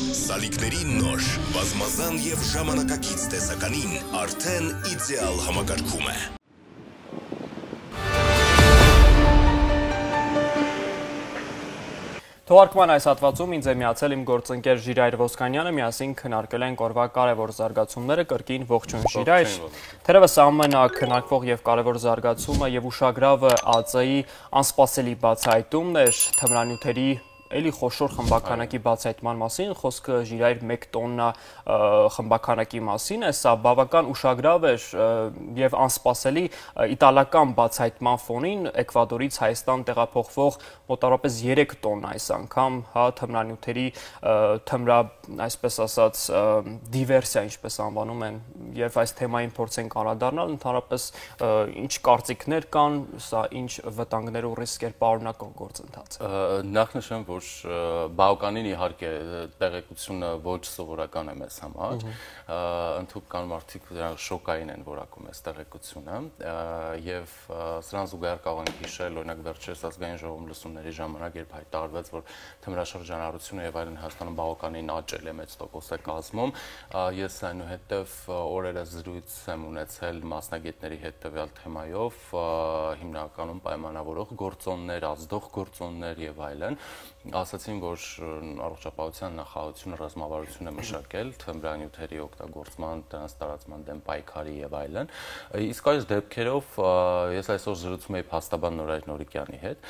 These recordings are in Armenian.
Սալիկների նոր, բազմազան և ժամանակակից տեսականին արդեն իդեալ համակարգում է։ Թողարկման այս հատվածում ինձ է միացել իմ գործընկեր Ժիրայր Ոսկանյանը, միասին քննարկել ենք օրվա կարևոր զարգացումները, կրկին ողջույն Ժիրայր։ Թերևս ամենակնարկվող և կարևոր զարգացումը և ուշագրավը ԱԾ-ի անսպասելի բացահայտումն էր թմրանյութերի էլի խոշոր խմբականակի բացահայտման մասին, խոսքը Ժիրայր 1 տոննա խմբականակի մասին է, սա բավական ուշագրավ էր և անսպասելի իտալական բացահայտման ֆոնին Էկվադորից Հայաստան տեղափոխվող մոտավորապես 3 տոննա այս անգամ, թմրանյութերի այսպես ասած դիվերսիա, ինչպես անվանում են, և այս թեմային փորձենք անդրադառնալ, ընդհանրապես ինչ կարծիքներ կան, սա ինչ վտանգներ ու ռիսկեր պարունակող գործընթաց է։ Նախ նշեմ, որ բավականին իհարկե տեղեկությունը ոչ սովորական է մեզ համար, ընդհուպ կան մարդիկ, դրանք շոկային են որակում այս տեղեկությունը, և սրան զուգահեռ կարող ենք հիշել, օրինակ վերջերս ազգային ժողովում լսումների ժամանակ, երբ հայտարարվեց, որ թմրաշրջանառությունը և այլն Հայաստանում բավականին աճել է, մեծ տոկոս է կազմում, ես այնուհետև օրերս զրույց եմ ունեցել մասնագետների հետ տվյալ թեմայով, հիմնականում պայմանավորող գործոններ, ազդող գործոններ և այլն, ասացին, որ առողջապահության նախարարությունը ռազմավարություն է մշակել թմրանյութերի օգտագործման, դրանց տարածման դեմ պայքարի և այլն, իսկ այս դեպքերով ես այսօր զրուցում էի փաստաբան Նորայր Նորիկյանի հետ,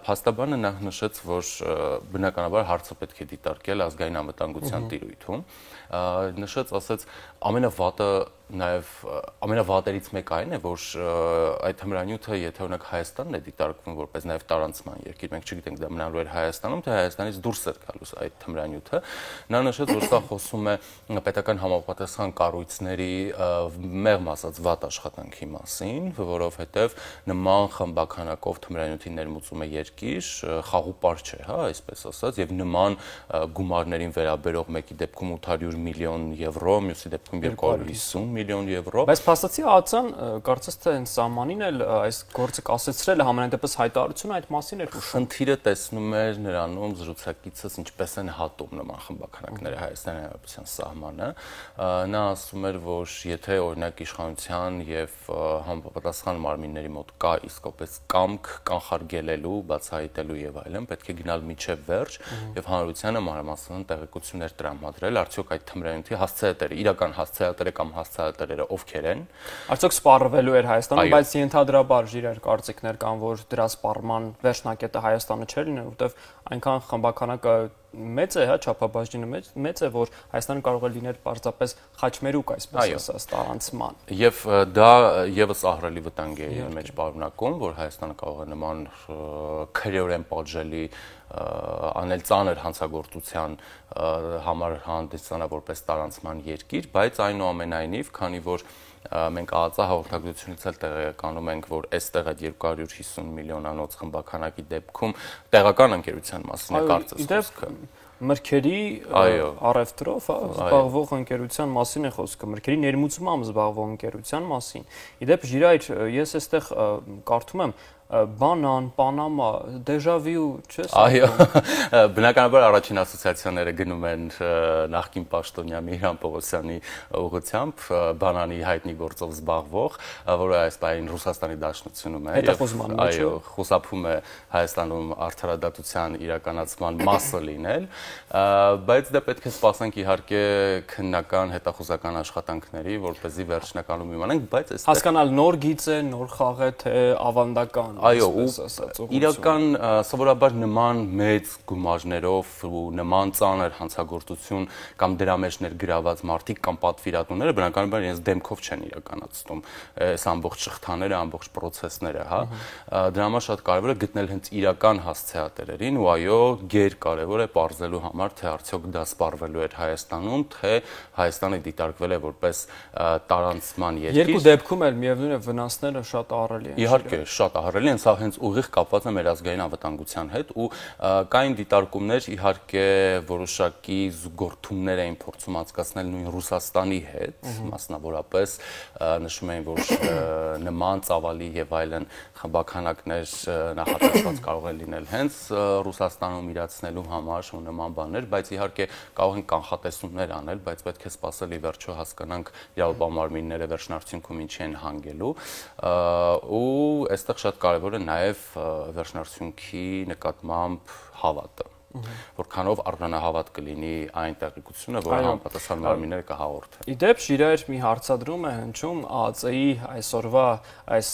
փաստաբանը նախ նշեց, որ բնականաբար հարցը պետք է դիտարկել ազգային անվտանգության տիրույթում, նշեց, ասեց, ամենավատը նաև ամենավատերից մեկը այն է, որ այդ թմրանյութը, եթե օրինակ Հայաստանն է դիտարկվում որպես նաև տարանցման երկիր, մենք չգիտենք դա մնալու էր Հայաստանում, թե Հայաստանից դուրս էր գալուս այդ թմրանյութը, նա նշեց, որ սա խոսում է պետական համապատասխան կառույցների մեղմ ասած վատ աշխատանքի մասին, որովհետև նման խմբականակով թմրանյութի ներմուծում է երկիր, խաղուպար չէ, այսպես ասած, եւ նման գումարներին վերաբերող մեկի դեպքում 800 միլիոն եվրո, մյուսի դեպքում 250 միլիոն եվրո։ Բայց փաստացի ԱԾ-ն կարծես թե հենց սահմանին էլ այս գործը կասեցրել է, համենայնդեպս հայտարարությունը այդ մասին էր ուշում։ Խնդիրը տեսնում էր նրանում զրուցակիցս ինչպես են հատում նման խմբականակները Հայաստանի Հանրապետության սահմանը։ Նա ասում էր, որ եթե օրինակ իշխանության եւ համապատասխան մարմինների մոտ կա իսկապես կամք կանխարգելելու, բացահայտելու եւ այլն, պետք է գնալ միջև վերջ եւ հանրությանը մանրամասն տեղեկություններ տրամադրել, արդյոք այդ թմրանյութի հասցեատերը, իրական հասցեատերը կամ հասցեատերերը ովքեր են։ Արդյոք սպառվելու էր Հայաստանում, բայց ենթադրաբար Ժիրայր կարծիքներ կան, որ դրա սպառման վերջնակետը Հայաստանը չէր լինել, որովհետև այնքան խմբականակը մեծ է, չափաբաժինը մեծ է, որ Հայաստանը կարող է լինել պարզապես խաչմերուկ, այսպես ասած, տարանցման։ Եվ դա եւս ահռելի վտանգ է իր մեջ պարունակում, որ Հայաստանը կարող է նման քրեորեն պատժելի անել ծանր հանցագործության համար հանդիսանա որպես տարանցման երկիր, բայց այնուամենայնիվ, քանի որ մենք ԱԱԾ հաղորդագրությունից էլ տեղեկանում ենք, որ այստեղ այդ 250 միլիոնանոց խմբականակի դեպքում տեղական ընկերության մասին է կարծես խոսքը։ Մրգերի առևտրով զբաղվող ընկերության մասին է խոսքը, մրգերի ներմուծմամբ զբաղվող ընկերության մասին։ Իդեպ Ժիրայր, ես այստեղ կարդում եմ բանան, Պանամա, դեժավյու, չես։ Այո, բնականաբար առաջին ասոցիացիաները գնում են նախկին պաշտոնյա Միհրան Պողոսյանի ուղղությամբ, բանանի հայտնի գործով զբաղվող, որը այս պահին Ռուսաստանի Դաշնությունում է, այո, խուսափում է Հայաստանում արդարադատության իրականացման մասը լինել, բայց դա պետք է սպասենք իհարկե քննական հետախուզական աշխատանքների, որպեսզի վերջնականում իմանանք, բայց այստեղ հասկանալ նոր գիծ է, նոր խաղ է, թե ավանդական։ Այո, իրական սովորաբար նման մեծ գումարներով ու նման ծանր հանցագործություն կամ դրա մեջ ներգրաված մարդիկ կամ պատվիրատուները բնականաբար իրենց դեմքով չեն իրականացնում այս ամբողջ շղթաները, ամբողջ process-ները, Դրա համար շատ կարևոր է գտնել հենց իրական հասցեատերերին ու այո, գերկարևոր է պարզելու համար, թե արդյոք դա սպառվելու էր Հայաստանում, թե Հայաստանը դիտարկվել է որպես տարանցման երկիր։ Երկու դեպքում էլ միևնույն է վնասները շատ ահռելի են։ Իհարկե, շատ ահռելի կարելի են սա հենց ուղիղ կապված է մեր ազգային անվտանգության հետ ու կային դիտարկումներ իհարկե որոշակի զուգորդումներ էին փորձում անցկացնել նույն Ռուսաստանի հետ, մասնավորապես նշում էին, որ նման ծավալի եւ այլն խմբականակներ նախատեսված կարող են լինել հենց Ռուսաստանում իրացնելու համար ու նման բաներ, բայց իհարկե կարող են կանխատեսումներ անել, բայց պետք է սպասել ի վերջո հասկանանք իրավաբանմարմինները վերջնարդյունքում ինչի են հանգելու ու այստեղ շատ կարևոր է նաև վերջնարդյունքի նկատմամբ հավատը որքանով առանձնահավատ կլինի այն տեղեկությունը, որը համապատասխան մարմինները կհաղորդեն։ Իդեպ Շիրայր մի հարցադրում է հնչում ԱԱԾ-ի այսօրվա այս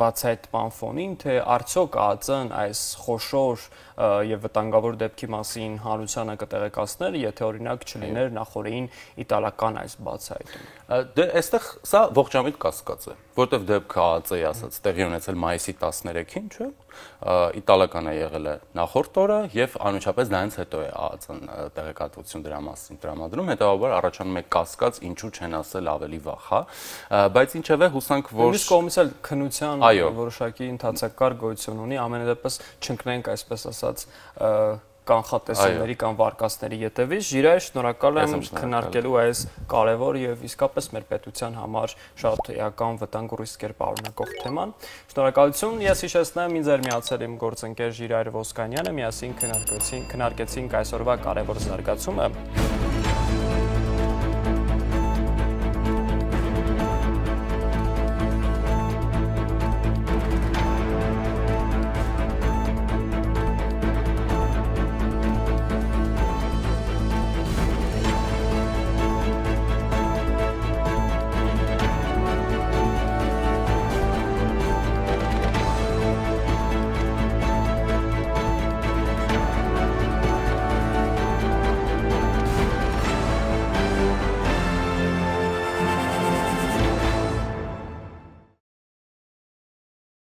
բացահայտման ֆոնին, թե արդյոք ԱԱԾ-ն այս խոշոր եւ վտանգավոր դեպքի մասին հանրությանը կտեղեկացներ, եթե օրինակ չլիներ նախորդին իտալական այս բացահայտումը։ Դե այստեղ սա ողջամիտ կասկած է, որտեվ դեպքը ԱԱԾ-ի ասած տեղի ունեցել մայիսի 13-ին, չէ՞։ Իտալական է եղել է նախորդ օրը եւ անմիջապես դրանից հետո է ԱԱԾ-ն տեղեկատվություն դրա մասին տրամադրում, հետեւաբար առաջանում է կասկած, ինչու չեն ասել ավելի վաղ, հա, բայց ինչևէ հուսանք, որ Մյուս կողմից էլ քննության որոշակի ընթացակարգ գոյություն ունի, ամենադեպս չընկնենք այսպես ասած կանխատեսումների կամ վարկածների ետևից։ Ժիրայր, շնորհակալ եմ քննարկելու այս կարևոր եւ իսկապես մեր պետության համար շատ էական վտանգ ու ռիսկեր պարունակող թեման։ Շնորհակալություն։ Ես հիշեցնեմ, ինձ էր միացել իմ գործընկեր Ժիրայր Ոսկանյանը, միասին քննարկեցինք այսօրվա կարևոր զարգացումը։